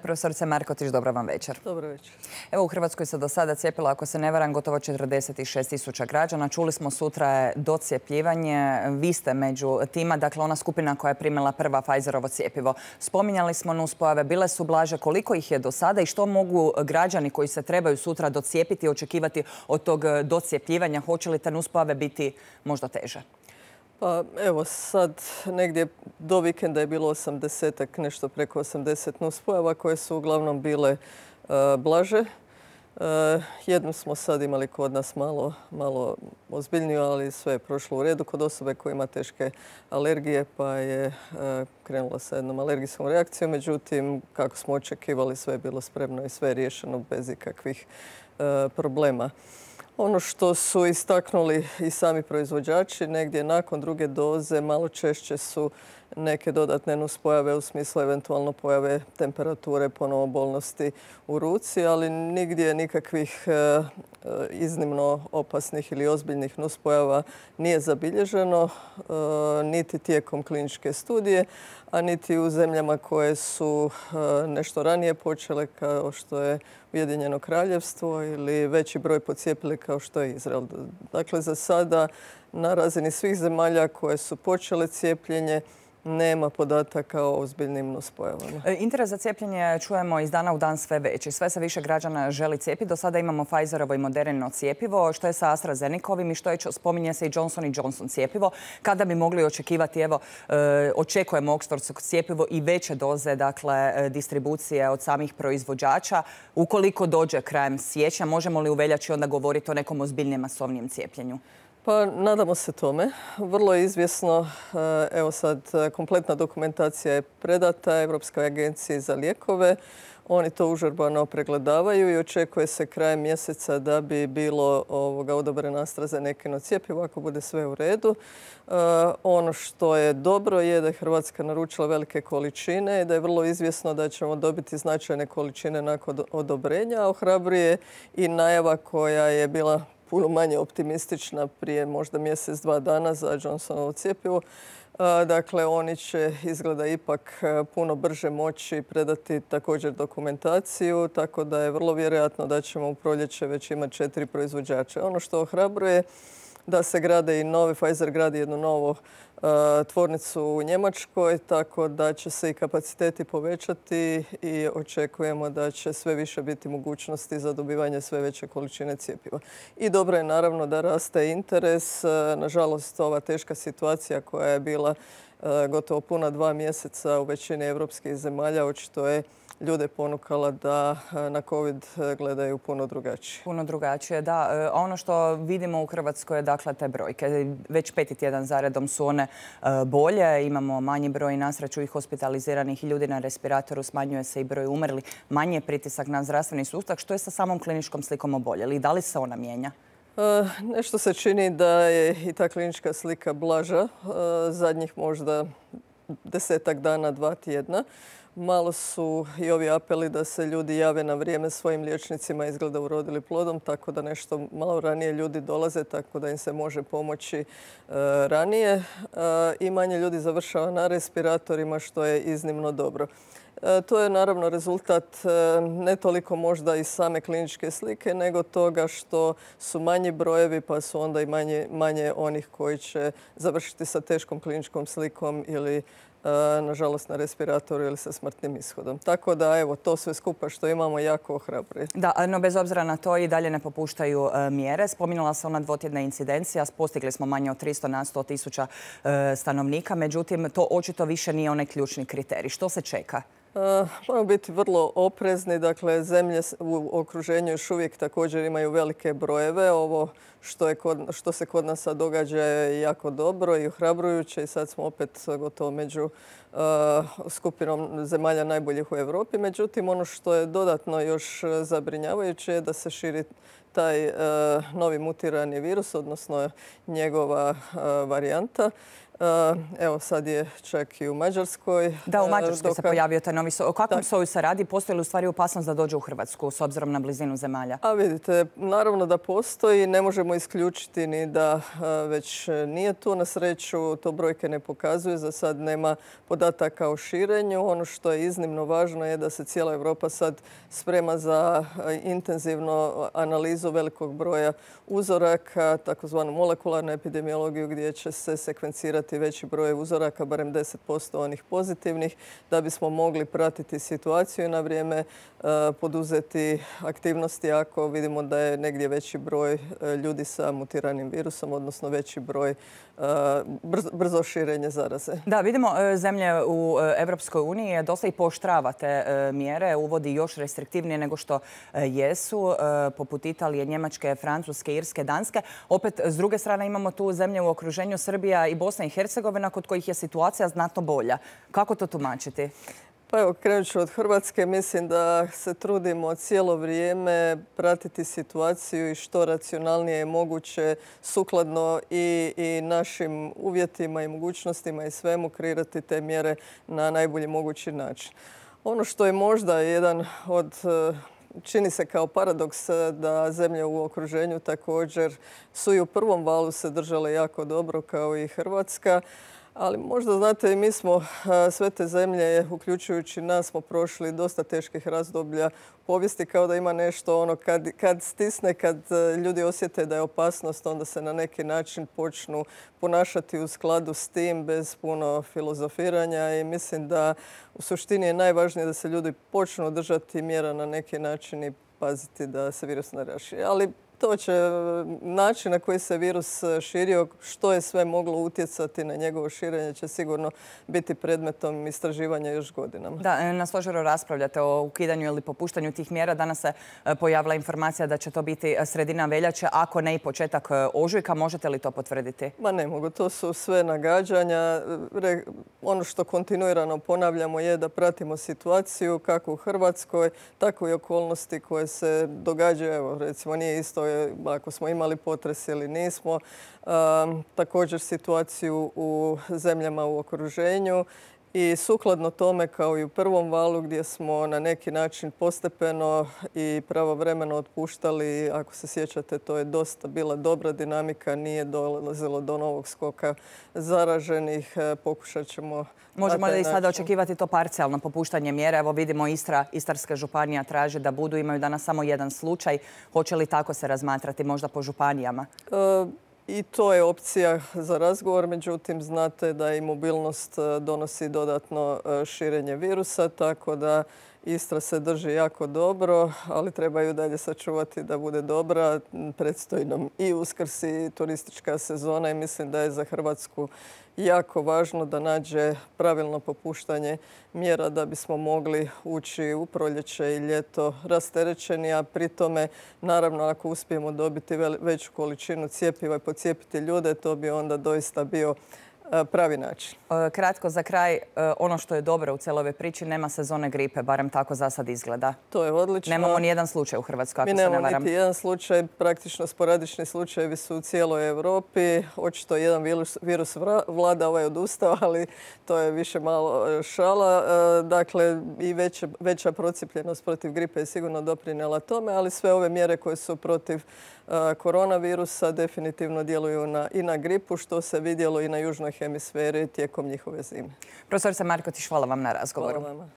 Profesorice Markotić, dobro vam večer. Dobro večer. Evo, u Hrvatskoj se do sada cijepilo, ako se ne varam, gotovo 46.000 građana. Čuli smo, sutra je docijepljivanje. Vi ste među tima, dakle ona skupina koja je primila prva Pfizerovo cijepivo. Spominjali smo nuspojave, bile su blaže. Koliko ih je do sada i što mogu građani koji se trebaju sutra docijepiti očekivati od tog docijepljivanja? Hoće li te nuspojave biti možda teže? Pa evo sad negdje do vikenda je bilo 80-ak, nešto preko 80 nuspojava koje su uglavnom bile blaže. Jednu smo sad imali kod nas malo ozbiljniju, ali sve je prošlo u redu kod osobe koja ima teške alergije, pa je krenula sa jednom alergijskom reakcijom. Međutim, kako smo očekivali, sve je bilo spremno i sve je riješeno bez ikakvih problema. Ono što su istaknuli i sami proizvođači, negdje nakon druge doze malo češće su neke dodatne nuspojave u smislu eventualno pojave temperature, ponovo bolnosti u ruci, ali nigdje nikakvih iznimno opasnih ili ozbiljnih nuspojava nije zabilježeno, niti tijekom kliničke studije, a niti u zemljama koje su nešto ranije počele, kao što je Ujedinjeno Kraljevstvo, ili veći broj pocijepili kao što je Izrael. Dakle, za sada na razini svih zemalja koje su počele cijepljenje nema podataka o ozbiljnim nuspojavama. Interes za cijepljenje čujemo iz dana u dan sve veći. Sve se više građana želi cijepiti. Do sada imamo Pfizerovo i Modernino cijepivo. Što je sa AstraZenecovim i što je, spominje se i Johnson & Johnson cijepivo. Kada bi mogli očekivati, evo, očekujemo oksfordsko cijepivo i veće doze, dakle, distribucije od samih proizvođača. Ukoliko dođe krajem siječnja, možemo li u veljači onda govoriti o nekom ozbiljnijem masovnijem cijepljenju? Pa nadamo se tome. Vrlo je izvjesno, evo sad kompletna dokumentacija je predata Europskoj agenciji za lijekove. Oni to užurbano pregledavaju i očekuje se krajem mjeseca da bi bilo odobreno AstraZenecino cijepivo ako bude sve u redu. Ono što je dobro je da je Hrvatska naručila velike količine i da je vrlo izvjesno da ćemo dobiti značajne količine nakon odobrenja. Ohrabruje i najava koja je bila puno manje optimistična prije možda mjesec, 2 dana za Johnsonovo cijepivo. Dakle, oni će izgleda ipak puno brže moći predati također dokumentaciju, tako da je vrlo vjerojatno da ćemo u proljeće već imati 4 proizvođača. Ono što ohrabruje da se grade i nove, Pfizer gradi jednu novu tvornicu u Njemačkoj, tako da će se i kapaciteti povećati i očekujemo da će sve više biti mogućnosti za dobivanje sve veće količine cijepiva. I dobro je naravno da raste interes. Nažalost, ova teška situacija koja je bila gotovo puna 2 mjeseca u većini evropskih zemalja očito je ljude ponukala da na COVID gledaju puno drugačije. Puno drugačije, da. Ono što vidimo u Hrvatskoj je, dakle, te brojke. Već 5. tjedan zaredom su one bolje. Imamo manji broj na sreću i hospitaliziranih i ljudi na respiratoru. Smanjuje se i broj umrli. Manji je pritisak na zdravstveni sustav. Što je sa samom kliničkom slikom oboljeli? Da li se ona mijenja? Nešto se čini da je i ta klinička slika blaža. Zadnjih možda 10-ak dana, 2 tjedna. Malo su i ovi apeli da se ljudi jave na vrijeme svojim liječnicima izgleda urodili plodom, tako da nešto malo ranije ljudi dolaze, tako da im se može pomoći ranije. I manje ljudi završava na respiratorima, što je iznimno dobro. To je naravno rezultat ne toliko možda iz same kliničke slike, nego toga što su manji brojevi, pa su onda i manje onih koji će završiti sa teškom kliničkom slikom ili nažalost na respiratoru ili sa smrtnim ishodom. Tako da, evo, to sve skupa što imamo jako ohrabruje. Da, no bez obzira na to i dalje ne popuštaju mjere. Spominjala se ona 2-tjedna incidencija. Postigli smo manje od 300 na 100.000 stanovnika. Međutim, to očito više nije onaj ključni kriterij. Što se čeka? Moramo biti vrlo oprezni. Dakle, zemlje u okruženju još uvijek također imaju velike brojeve. Ovo što se kod nas sad događa je jako dobro i ohrabrujuće i sad smo opet gotovo među skupinom zemalja najboljih u Europi. Međutim, ono što je dodatno još zabrinjavajuće je da se širi taj novi mutirani virus, odnosno njegova varijanta. Evo sad je čak i u Mađarskoj. Da, u Mađarskoj se pojavio taj novi soj. O kakvom soju se radi? Postoji li u stvari opasnost da dođe u Hrvatsku s obzirom na blizinu zemalja? A vidite, naravno da postoji. Ne možemo isključiti ni da već nije tu. Na sreću to brojke ne pokazuju. Za sad nema podataka o širenju. Ono što je iznimno važno je da se cijela Europa sad sprema za intenzivnu analizu velikog broja uzoraka, takozvanu molekularnu epidemiologiju gdje će se sekvencirati veći broj uzoraka, barem 10% onih pozitivnih, da bismo mogli pratiti situaciju i na vrijeme poduzeti aktivnosti ako vidimo da je negdje veći broj ljudi sa mutiranim virusom, odnosno veći broj brzo širenje zaraze. Da, vidimo zemlje u Evropskoj uniji dosta i pooštrava te mjere, uvodi još restriktivnije nego što jesu, poput Italije, Njemačke, Francuske, Irske, Danske. Opet, s druge strane, imamo tu zemlje u okruženju Srbija i Bosna i Hercegovina kod kojih je situacija znatno bolja. Kako to tumačiti? Pa evo, krenut ću od Hrvatske. Mislim da se trudimo cijelo vrijeme pratiti situaciju i što racionalnije je moguće sukladno i našim uvjetima i mogućnostima i svemu kreirati te mjere na najbolji mogući način. Ono što je možda jedan od čini se kao paradoks da zemlje u okruženju također su i u prvom valu se držale jako dobro kao i Hrvatska. Ali možda, znate, i mi smo, sve te zemlje, uključujući nas, smo prošli dosta teških razdoblja povijesti, kao da ima nešto ono kad stisne, kad ljudi osjete da je opasnost, onda se na neki način počnu ponašati u skladu s tim bez puno filozofiranja i mislim da u suštini je najvažnije da se ljudi počnu držati mjera na neki način i paziti da se virus ne raširi. Ali to će način na koji se virus širio, što je sve moglo utjecati na njegovo širenje, će sigurno biti predmetom istraživanja još godinama. Da, na stožeru raspravljate o ukidanju ili popuštanju tih mjera. Danas se pojavila informacija da će to biti sredina veljače, ako ne i početak ožujka. Možete li to potvrditi? Ma ne mogu, to su sve nagađanja. Ono što kontinuirano ponavljamo je da pratimo situaciju kako u Hrvatskoj, tako i okolnosti koje se događaju. Evo, recimo, nije isto ako smo imali potres ili nismo. Također situaciju u zemljama u okruženju i sukladno tome kao i u prvom valu gdje smo na neki način postepeno i pravovremeno otpuštali, ako se sjećate, to je dosta bila dobra dinamika, nije dolazilo do novog skoka zaraženih. Pokušat ćemo... Možemo li sada očekivati to parcijalno popuštanje mjera? Evo vidimo Istarska županija traži da budu, imaju danas samo jedan slučaj. Hoće li tako se razmatrati možda po županijama? I to je opcija za razgovor, međutim znate da i mobilnost donosi dodatno širenje virusa, tako da Istra se drži jako dobro, ali trebaju dalje sačuvati da bude dobra. Predstoji nam i Uskrs i turistička sezona i mislim da je za Hrvatsku jako važno da nađe pravilno popuštanje mjera da bismo mogli ući u proljeće i ljeto rasterećeni, a pri tome, naravno, ako uspijemo dobiti veću količinu cjepiva i pocijepiti ljude, to bi onda doista bio pravi način. Kratko za kraj, ono što je dobro u cijeloj ovoj priči, nema sezone gripe, barem tako za sad izgleda. To je odlično. Nemamo ni jedan slučaj u Hrvatskoj, ako se ne varam. Mi nemamo niti jedan slučaj, praktično sporadični slučajevi su u cijeloj Europi. Očito jedan virus vlada, ovaj odustao, ali to je više malo šala. Dakle, i veća procijepljenost protiv gripe je sigurno doprinijela tome, ali sve ove mjere koje su protiv koronavirusa definitivno djeluju i na gripu, što se vidjelo i na južnoj hemisferi tijekom njihove zime. Profesorica Markotić, hvala vam na razgovoru. Hvala vama.